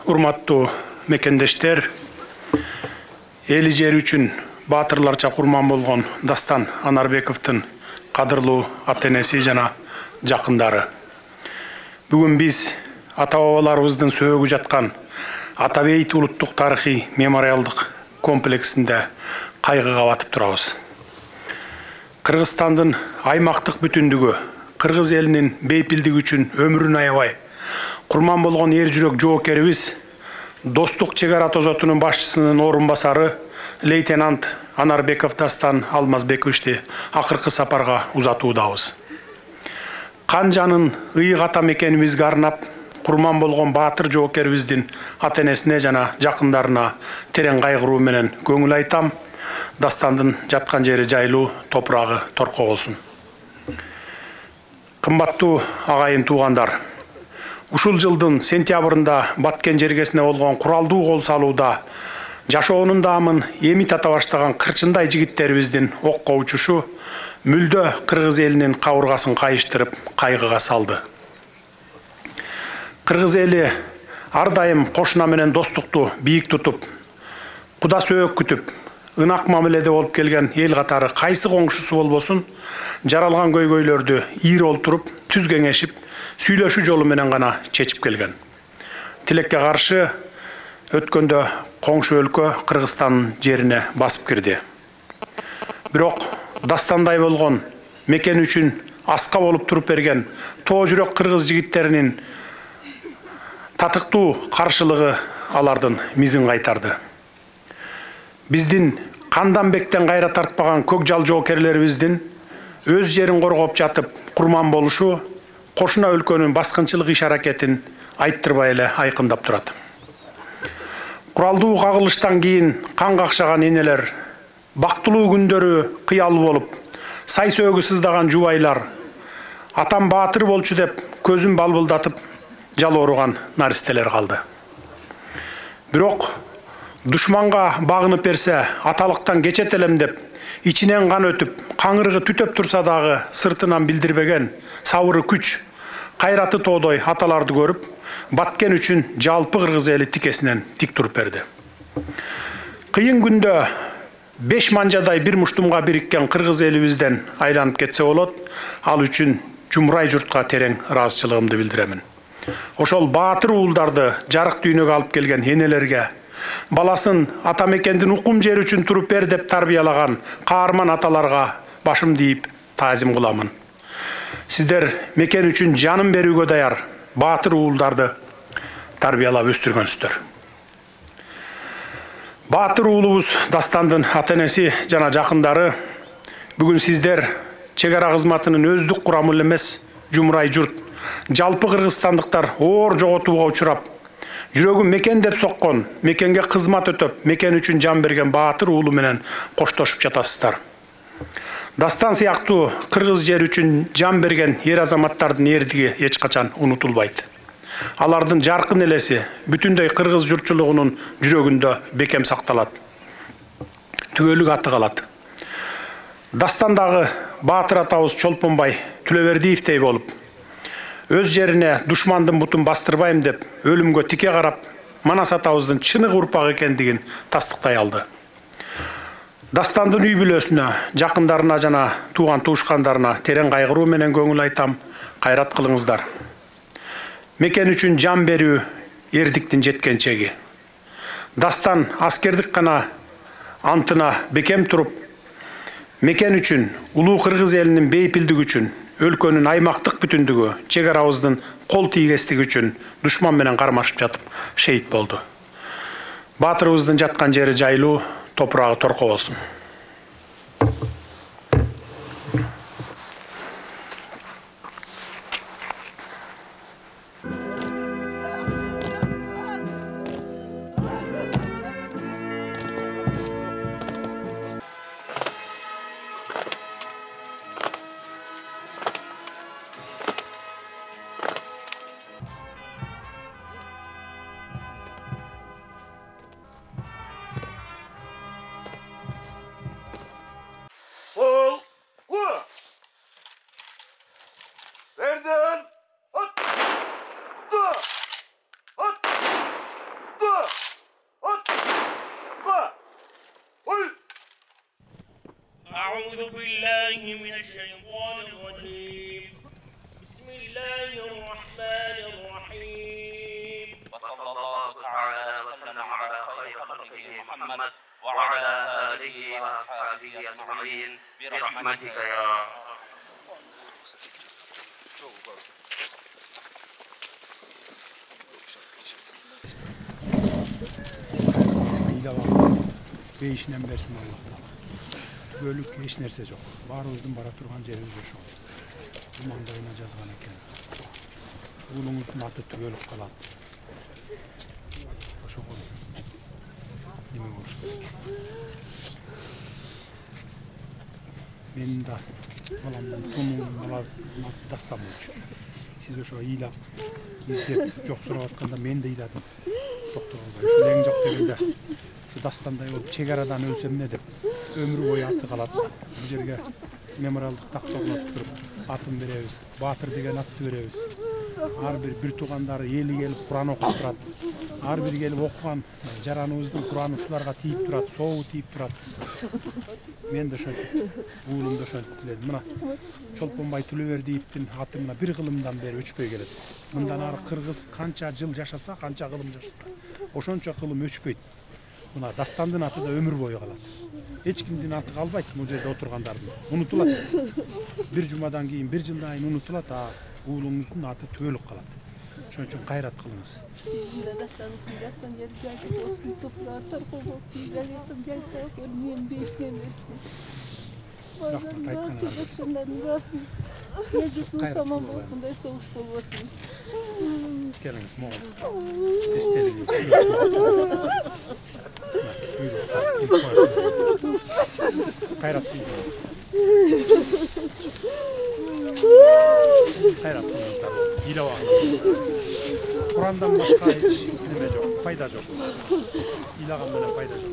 Урматтуу мекендештер, эли жери үчүн баатырларча курман болгон Дастан Анарбековдун кадырлуу ата-энеси жана жакындары. Бүгүн биз ата-бабаларыбыздын сөөгү жаткан Атабейт улуттук тарыхый мемориалдык комплексинде кайгыга батып турабыз. Кыргызстандын аймактык бүтүндүгү, кыргыз элинин бейпилдиги үчүн өмүрүн аябай курман болгон эр жүрөк жоокерибиз Достук чек ара тозотунун башчысынын орун басары лейтенант Анарбеков Дастан Алмазбековичти акыркы сапарга узатуудабыз. Канжанын ыйык ата мекенибизге арнап курман болгон баатыр жоокерибиздин ата-энесине жана жакындарына терең кайгыруу менен көңүл айтам. Дастандын жаткан жери жайлуу, топурагы торко болсун. Кымбаттуу агайын туугандар, ушул жылдын сентябрында Баткен жергесине болгон куралдуу кол салууда жашоонун даамын эми тата баштаган кырчындай жигиттерибиздин окко учушу мүлдө кыргыз элинин кабыргасын кайыштырып, кайгыга салды. Кыргыз эли ар дайым кошуна менен достукту бийик тутуп, куда сөөк күтүп, ынак мамиледе болуп келген эл катары кайсы коңшусу болбосун, жаралган көйгөйлөрдү ийир олтуруп, түз кеңешип, сүйлөшүү жолу менен гана чечип келген. Тилекке каршы өткөндө коңшу өлкө Кыргызстандын жерине басып кирди. Бирок Дастандай болгон мекен үчүн аска болуп туруп берген тоо жүрөк кыргыз жигиттеринин татыктуу каршылыгы алардын мизин кайтарды. Биздин кандан бектен кайра тартпаган көк жал жоокерлерибиздин өз жерин коргоп жатып курман болушу кошуна өлкөнүн баскынчылык иш-аракетин айттырбай эле айкындап турат. Куралдуу кагылыштан кийин кан какшаган энелер, бактылуу күндөрү кыялуу болуп, сай сөөгү сыздаган жубайлар, атам баатыр болчу деп көзүн балбылдатып жалооруган наристелер калды. Бирок душманга багынып берсе, аталыктан кечет элем деп, ичинен кан өтүп, каңырыгы түтөп турса дагы сыртынан билдирбеген сабыры күч, кайраты тоодой аталарды көрүп, Баткен үчүн жалпы кыргыз эли тикесинен тик туруп берди. Кыйын күндө 5 манжадай бир муштумга бириккен кыргыз элибизден айланып кетсе болот, ал үчүн жумрай журтка терең ыраазычылыгымды билдиремин. Ошол баатыр уулдарды жарык дүйнөгө алып келген энелерге, баласын ата мекендин укум жери үчүн туруп бер деп тарбиялаган каарман аталарга башымды ийип таазим кыламын. Сиздер мекен үчүн жанын берүүгө даяр баатыр уулдарды тарбиялап өстүргөнсүздөр. Баатыр уулубуз Дастандын ата-энеси жана жакындары бүгүн сиздер чек ара кызматынын өздүк курамы эмес, жумрай журт, жалпы кыргызстандыктар оор жоготууга учурап, жүрөгү мекен деп соккон, мекенге кызмат өтөп, мекен үчүн жан берген баатыр уулу менен коштошуп жатасыздар. Дастан сыяктуу кыргыз жери үчүн жан берген эр азаматтардын эрдиги эч качан унутулбайт. Алардын жаркын элеси бүтүндөй кыргыз журтчулугунун жүрөгүндө бекем сакталат. Түгөлүк аты калат. Дастандагы баатыр атабыз Чолпонбай Түлөбердиевдей болуп, өз жерине душмандын бутун бастырбайм деп өлүмгө тике карап, Манас атабыздын чыныгы урпак экендигин тастыктай алды. Дастандын үй бүлөсүнө, жакындарына жана тууган туушкандарына терең кайгыруу менен көңүл айтам, кайрат кылыңыздар. Мекен үчүн жан берүү эрдиктин жеткен чеги. Дастан аскердик гана антына бекем туруп, мекен үчүн, улуу кыргыз элинин бейпилдиги үчүн, өлкөнүн аймактык бүтүндүгү, чек арабыздын кол тийгестиги үчүн душман менен кармашып жатып шейит болду. Баатырыбыздын жаткан жери жайлуу, топурагы торко болсун. أعوذ بالله من الشيطان الرجيم بسم الله الرحمن الرحيم وصلى الله تعالى وسلم على خير خلقه محمد وعلى آله وأصحابه أجمعين برحمتك يا Beyişinden versin Allah'tan. Bölük hiç nerse yok. Barımızdan bara turgan жерimiz ошо. Bu mangdayına жазган экен. Улуңуздун аты түгөлүп калат. Ошого неме болуш керек. Менин да баламдын тонун дастан болчу. Сиз ошо ыйлап, издеп, жок сурап атканда мен да ыйладым. Доктор албай, ушу эң жок дегенде şu dastандай olup çegaradan ölsem ne деп ömrü boyu atı kalat. Bu жерге memorialдык такча кылып туруп атын беребиz. Батыр деген атты беребиz. Ар бир туугандары эли келип Куран окуп турат. Ар бир келип окуган жараныбыздын Кураны ушуларга тийип турат, сообу тийип турат. Мен да ошентип, уулум да ошентип тиледим. Мына Чолпонбай Төлөбердиевдин аты мына бир кылымдан бери өчпөй келет. Мындан ары кыргыз канча жыл жашаса, канча кылым жашаса, ошончо кылым өчпөйт. Мына дастандын аты да өмүр бою калат. Эч кимдин аты калбайт бул жерде отургандардын. Унутулат. Бир жумадан кийин, бир жылдан кийин унутулат, а уулуңуздун аты түбөлүк калат. Ошон үчүн кайрат кылыңыз. Рахмат айтканыңызга. Келиңиз, могул. Эстелиңиз. Кайрат кылыңыздар. Ыйлап алыңыз. Курандан башка эч неме жок, пайда жок. Ыйлаган менен пайда жок.